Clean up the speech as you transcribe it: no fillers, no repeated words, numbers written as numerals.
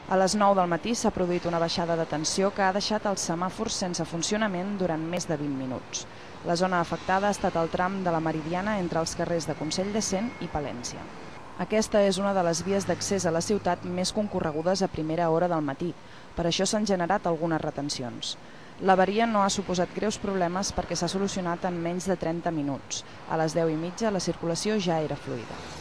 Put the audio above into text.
A les 9 del matí s'ha produït una baixada de tensió que ha deixat els semàfors sense funcionament durant més de 20 minuts. La zona afectada ha estat el tram de la Meridiana entre els carrers de Consell de Cent i Palència. Aquesta és una de les vies d'accés a la ciutat més concorregudes a primera hora del matí. Per això s'han generat algunes retencions. L'avaria no ha suposat greus problemes perquè s'ha solucionat en menys de 30 minuts. A les 10:30 la circulació ja era fluida.